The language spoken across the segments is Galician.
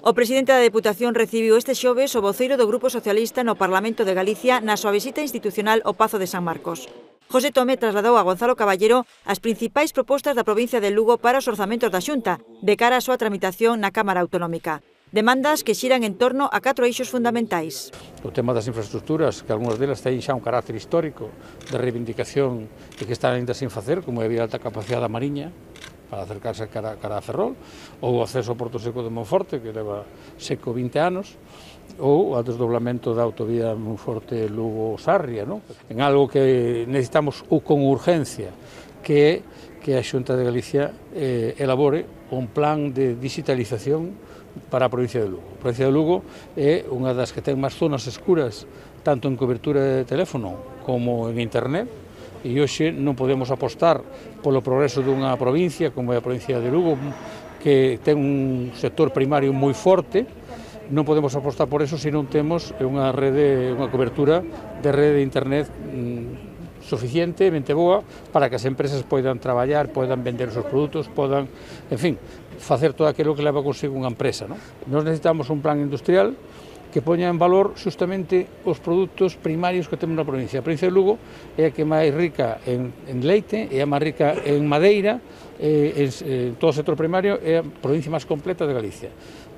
O presidente da Deputación recibiu este xoves o voceiro do Grupo Socialista no Parlamento de Galicia na súa visita institucional ao Pazo de San Marcos. José Tomé trasladou a Gonzalo Caballero as principais propostas da provincia de Lugo para os orzamentos da Xunta, de cara á súa tramitación na Cámara Autonómica. Demandas que xiran en torno a 4 eixos fundamentais. O tema das infraestructuras, que algunhas delas teñen xa un carácter histórico de reivindicación e que están ainda sin facer, como é a vía de alta capacidade da Mariña, para acercarse cara a Ferrol, ou o acceso ao Porto Seco de Monforte, que leva seco 20 anos, ou o desdoblamento da autovía Monforte-Lugo-Sarria, non? En algo que necesitamos con urgencia, que a Xunta de Galicia elabore un plan de digitalización para a provincia de Lugo. A provincia de Lugo é unha das que ten máis zonas escuras, tanto en cobertura de teléfono como en internet, e hoxe non podemos apostar polo progreso dunha provincia como é a provincia de Lugo, que ten un sector primario moi forte. Non podemos apostar por eso se non temos unha cobertura de rede de internet suficientemente boa para que as empresas poidan traballar, poidan vender os seus produtos, poidan, en fin, facer todo aquilo que leva consigo unha empresa, non? Nós necesitamos un plan industrial que poña en valor justamente os produtos primarios que temos na provincia. A provincia de Lugo é a que máis rica en leite, é a máis rica en madeira, en todo o sector primario é a provincia máis completa de Galicia.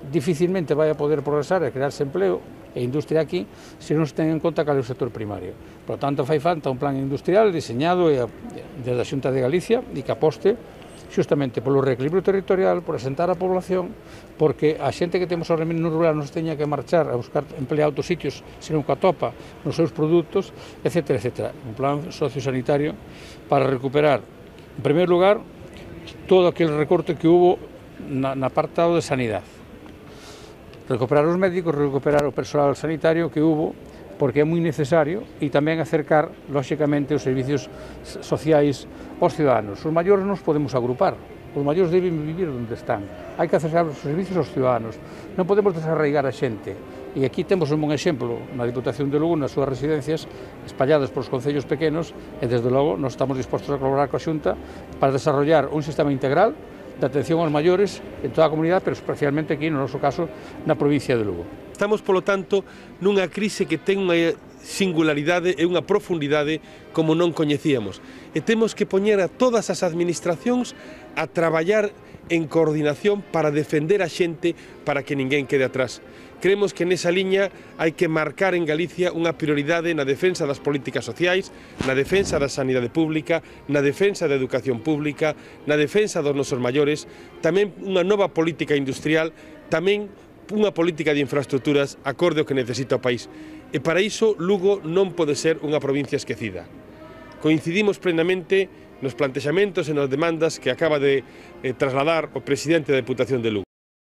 Difícilmente vai a poder progresar e crearse empleo e industria aquí se non se ten en conta cal é o sector primario. Por lo tanto, fai falta un plan industrial diseñado desde a Xunta de Galicia e que aposte justamente polo reequilibrio territorial, por asentar a población, porque a xente que temos ao remendo rural non se teña que marchar a buscar empleo a outros sitios, senón que atopa nos seus produtos, etc. etc. Un plan sociosanitario para recuperar, en primeiro lugar, todo aquel recorte que hubo na apartado de sanidade. Recuperar os médicos, recuperar o persoal sanitario que hubo, porque é moi necesario, e tamén acercar, lóxicamente, os servicios sociais aos ciudadanos. Os maiores nos podemos agrupar, os maiores deben vivir onde están. Hai que acercar os servicios aos ciudadanos. Non podemos desarraigar a xente. E aquí temos un bon exemplo na Diputación de Lugo, nas súas residencias, espalladas polos concellos pequenos, e desde logo nos estamos dispostos a colaborar coa Xunta para desarrollar un sistema integral de atención aos maiores en toda a comunidade, pero especialmente aquí, no noso caso, na provincia de Lugo. Estamos, polo tanto, nunha crise que ten unha singularidade e unha profundidade como non coñecíamos. E temos que poñer a todas as administracións a traballar en coordinación para defender a xente, para que ninguén quede atrás. Creemos que nesa liña hai que marcar en Galicia unha prioridade na defensa das políticas sociais, na defensa da sanidade pública, na defensa da educación pública, na defensa dos nosos maiores, tamén unha nova política industrial, tamén unha política de infraestructuras acorde ao que necesita o país. E para iso Lugo non pode ser unha provincia esquecida. Coincidimos plenamente nos plantexamentos e nas demandas que acaba de trasladar o presidente da Deputación de Lugo.